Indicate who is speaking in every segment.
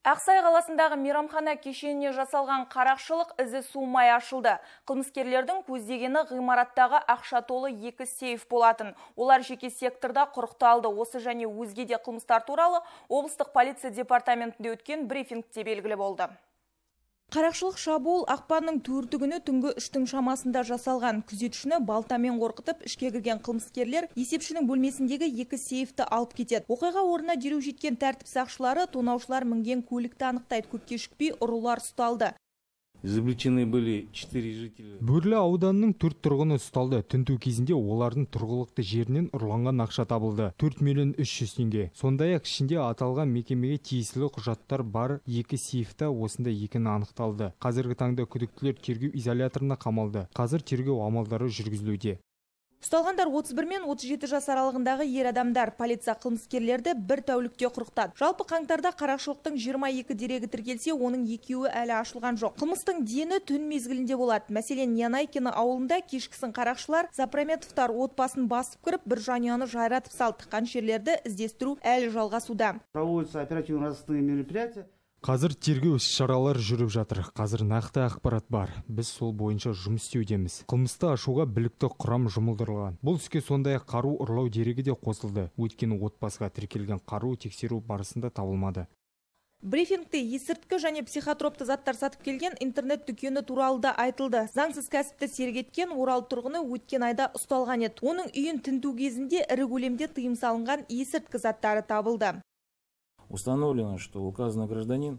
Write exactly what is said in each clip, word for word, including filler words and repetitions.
Speaker 1: Ақсай қаласындағы мейрамхана кешеніне жасалған қарақшылық ізі суымай ашылды. Қылмыскерлердің көздегені ғимараттағы ақша толы екі сейф болатын. Олар жеке секторда құрықталды. Осы және өзге де қылмыстар туралы облыстық полиция департаментінде өткен брифингте белгілі болды. Қарақшылық шабуыл ақпанның төрті күні түнгі үштің шамасында жасалған. Күзетшіні балтамен қорқытып ішке кірген қылмыскерлер есепшінің бөлмесіндегі екі сейфті алып кетеді. Оқиға орнына дереу жеткен тәртіп сақшылары тонаушылар мінген көлікті анықтайды. Көп кешікпей ұрылар ұсталды.
Speaker 2: Изобличены были четыре жителя.
Speaker 3: Бөрлі ауданының төрт тұрғыны ұсталды. Тінту кезінде олардың тұрғылықты жерінен ұрланған ақша табылды. төрт миллион үш жүз теңге. Сондай-ақ ішінде аталған мекемеге тиесілі құжаттар бар екі сейфта осында екені анықталды. Қазіргі таңда күдіктілер тергеу изоляторына қамалды. Қазір тергеу амалдары жүргізілуде.
Speaker 1: Ұсталғандар отыз бір мен отыз жеті жас аралығындағы ер адамдар. Полиция қылмыскерлерді бір тәулікте құрықтады. Жалпы қаңтарда қарақшылықтың жиырма екі дерегі тіркелсе, оның екеуі әлі ашылған жоқ. Қылмыстың дені түн мезгілінде болады. Мәселен, Янайкино ауылында кешкісін қарақшылар Запраметовтар отбасын басып кіріп, бір жанұяны жайратып салды. Тыққан жерлерді іздестіру әлі жалғасуда.
Speaker 2: Проводятся оперативно-розыскные мероприятия.
Speaker 3: Қазір тергеу іс-шаралар жүріп жатыр. Қазір нақты ақпарат бар. Біз сол бойынша жұмыс істеудеміз. Қылмысты ашуға білікті құрам жұмылдырылған. Бұл іске сондай-ақ қару ұрлау дерегі де қосылды. Өйткені отбасыға тіркелген қару тексеру барысында табылмады.
Speaker 1: Брифингте есірткі және психотропты заттар сатып келген интернет дүкені туралы да айтылды. Заңсыз кәсіпті серік Орал тұрғыны өткен айда ұсталған еді. Оның үйін тінту кезінде ірі көлемде тыйым салынған есірткі заттары табылды.
Speaker 2: Установлено, что указанный гражданин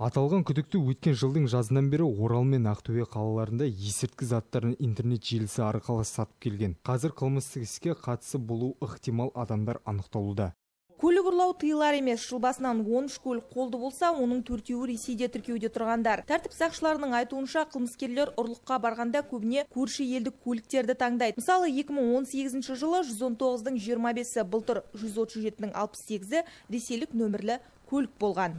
Speaker 3: Аталған күдікті өткен жылдың жазынан бері Орал мен Ақтөбе қалаларында есірткі заттарын интернет желісі арқылы сатып келген. Қазір қылмыстық іске қатысы болу ықтимал адамдар анықталуда.
Speaker 1: Көлік ұрлау тыйылар емес. Жыл басынан он үш көлік қолды болса, оның төртеуі Ресейде тіркеуде тұрғандар. Тәртіп сақшыларының айтуынша, қылмыскерлер ұрлыққа барғанда көбіне көрші елдік көліктерді таңдайды. Мысалы, екі мың он сегізінші жылы жүз он тоғыздың жиырма бесі, былтыр жүз отыз жетінің алпыс сегізі ресейлік нөмірлі көлік болған.